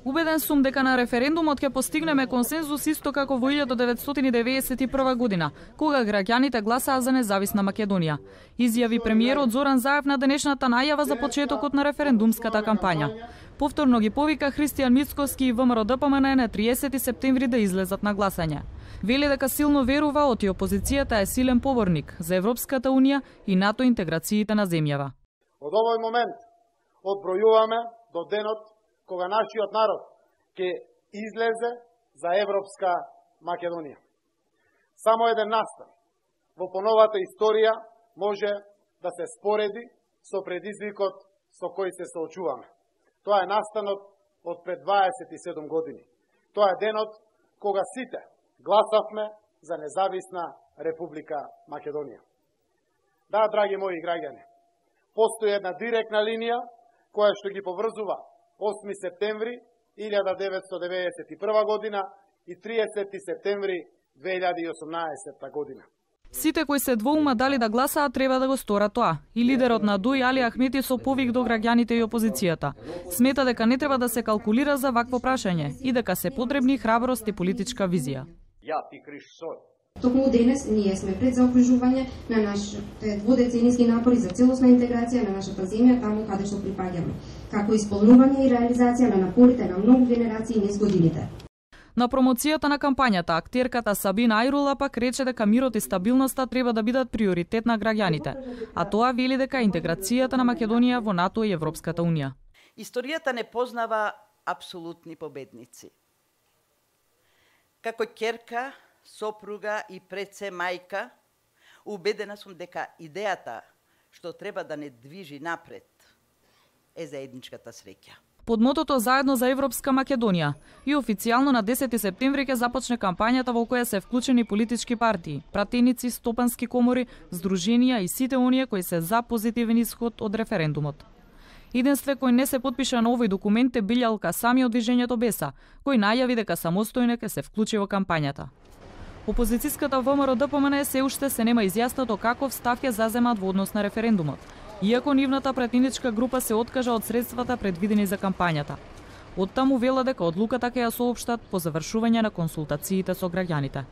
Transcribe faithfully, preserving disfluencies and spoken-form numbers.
Убеден сум дека на референдумот ќе постигнеме консензус исто како во илјадум деветстотини деветдесет и прва година, кога граѓаните гласаа за независна Македонија, изјави премиерот Зоран Заев на денешната најава за почетокот на референдумската кампања. Повторно ги повика Христијан Мицкоски и ВМРО Д П М Н на триесети септември да излезат на гласање. Вели дека силно верува оти опозицијата е силен поборник за Европската Унија и НАТО интеграциите на земјава. Од овој момент одбројуваме до денот кога нашиот народ ќе излезе за Европска Македонија. Само еден настан во поновата историја може да се спореди со предизвикот со кој се соочуваме. Тоа е настанот од пред дваесет и седум години. Тоа е денот кога сите гласавме за независна Република Македонија. Да, драги мои граѓани, постои една директна линија која што ги поврзува осми септември илјада деветстотини деветдесет и прва година и триесети септември две илјади и осумнаесетта година. Сите кои се двоума дали да гласаат треба да го сторат тоа. И лидерот на ДУИ Али Ахмети со повик до граѓаните и опозицијата. Смета дека не треба да се калкулира за вакво прашање и дека се потребни храброст и политичка визија. Ја ти Кришсој. Токму денес ние сме пред заокружување на нашите дводеценијски напори за целосна интеграција на нашата земја таму каде што припаѓаме, како исполнување и реализација на напорите на многу генерации низ годините. На промоцијата на кампањата, актерката Сабина Ајрула пак рече дека мирот и стабилноста треба да бидат приоритет на граѓаните, а тоа вели дека интеграцијата на Македонија во НАТО и Европската Унија. Историјата не познава апсолутни победници. Како ќерка, сопруга и пред се мајка, убедена сум дека идејата што треба да не движи напред е заедничката среќа. Под мотото Заедно за Европска Македонија и официјално на десети септември ќе започне кампањата во која се вклучени политички партии, пратеници, стопански комори, здруженија и сите оние кои се за позитивен исход од референдумот. Единстве кој не се потпиша на овој документ е Билјалка Сами од движењето Беса, кој најави дека самостојно ќе се вклучи во кампањата. Опозицијската ВМРО Д П М Н се уште се нема изјаснато каков став ќе заземат во однос на референдумот, иако нивната пратеничка група се откажа од средствата предвидени за кампањата. Оттаму вела дека одлуката ќе ја соопштат по завршување на консултациите со граѓаните.